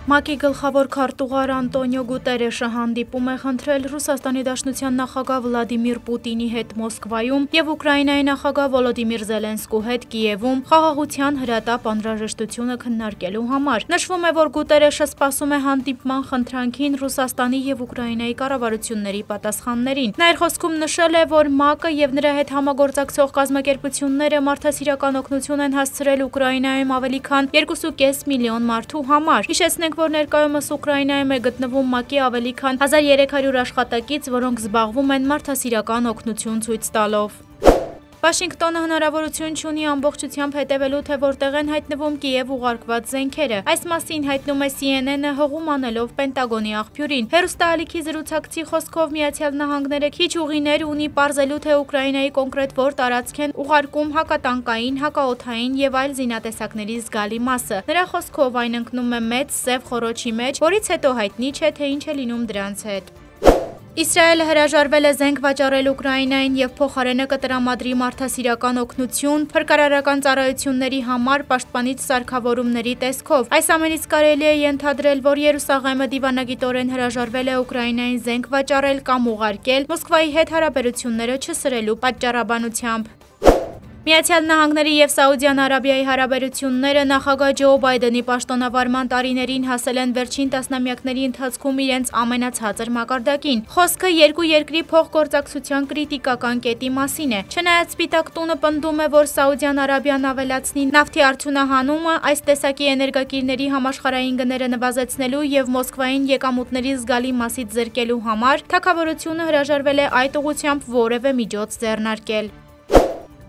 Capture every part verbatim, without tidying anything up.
ՄԱԿ-ի գլխավոր քարտուղար Անտոնիո Գուտերեշը հանդիպում է խնդրել Ռուսաստանի Դաշնության նախագահ Վլադիմիր Պուտինի հետ Մոսկվայում և Ուկրաինայի նախագահ Վոլոդիմիր Զելենսկու հետ Կիևում խաղաղության հրատապ անհրաժեշտությունը քննարկելու համար։ Նշվում է, որ Գուտերեշը սպասում է հանդիպման խնդրանքին Ռուսաստանի և Ուկրաինայի կառավարությունների պատասխաններին։ Նա իր խոսքում նշել է, որ ՄԱԿ-ը և նրա հետ համագործակցող կազմակերպությունները մարդասիրական օգնություն են հասցրել Ուկրաինայում ավելի քան երկու կես միլիոն մարդու համար։ Հիշեցնենք, որ ներկայումս Ուկրաինայում է գտնվում ՄԱԿ-ի ավելի քան հազար երեք հարյուր աշխատակից, որոնք զբաղվում են մարդասիրական օգնություն ցույց տալով։ Վաշինգտոնը հնարավորություն չունի ամբողջությամբ հետևելու, թե որտեղ են հայտնվում Կիև ուղարկված զենքերը։ Այս մասին հայտնում է Սի Են Են-ը հղում անելով Պենտագոնի աղբյուրին։ Հեռուստաալիքի զրուցակցի խոսքով Միացյալ Նահանգները քիչ ուղիներ ունի պարզելու, թե Ուկրաինայի կոնկրետ որ տարածք են ուղարկում հակատանկային, հակաօդային և այլ զինատեսակների զգալի մասը։ Նրա խոսքով այն ընկնում է մեծ սև խոռոչի մեջ, որից հետո հայտնի չէ, թե ինչ է լինում դրանց հետ։ Իսրայելը հրաժարվել է զենք վաճառել Ուկրաինային և փոխարենը կտրամադրի մարդասիրական օգնություն փրկարարական ծառայությունների համար պաշտպանիչ սարքավորումների տեսքով։ Այս ամենից կարելի է ենթադրել, որ Երուսաղեմը դիվանագիտորեն հրաժարվել է Ուկրաինային զենք վաճառել կամ ուղարկել Մոսկվայի հետ հարաբերությունները չսրելու պատճառաբանությամբ։ Միացյալ Նահանգների և Սաուդյան Արաբիայի հարաբերությունները նախագահ Ջո Բայդենի պաշտոնավարման տարիներին հասել են վերջին տասնամյակների ընթացքում իրենց ամենացածր մակարդակին։ Խոսքը երկու երկրի փոխգործակցության կրիտիկական կետի մասին է։ Չնայած Սպիտակ տունը պնդում է, որ Սաուդյան Արաբիան ավելացնի նավթի արդյունահանումը այս տեսակի էներգակիրների համաշխարհային գները նվազեցնելու և Մոսկվային եկամուտների զգալի մասից զրկելու համար, թագավորությունը հրաժարվել է այդ ուղղությամբ որևէ միջոց ձեռնարկել։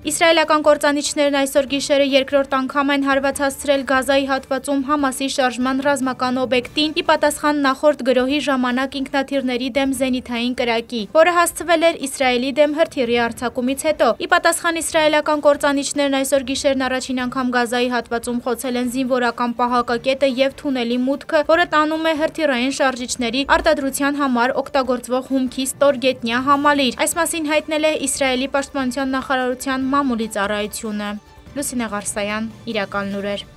Իսրայելական կործանիչներն այսօր գիշերը երկրորդ անգամ են հարված հասցրել Գազայի հատվածում Համասի շարժման ռազմական օբյեկտին՝ ի պատասխան նախորդ գրոհի ժամանակ ինքնաթիռների դեմ զենիթային կրակի, որը հասցվել էր Իսրայելի դեմ հրթիռի արձակումից հետո։ Ի պատասխան իսրայելական կործանիչներն այսօր գիշերն առաջին անգամ Գազայի հատվածում խոցել են զինվորական պահակակետը և թունելի մուտքը, որը տանում է հրթիռային շարժիչների արտադրության համար օգտագործվող հումքի ստորգետնյա համալիր։ Այս մասին հայտնել է Իսրայելի պաշտպանության նախարարության մամուլի ծառայությունը։ Լուսինե Ղարսայան, Իրական լուրեր։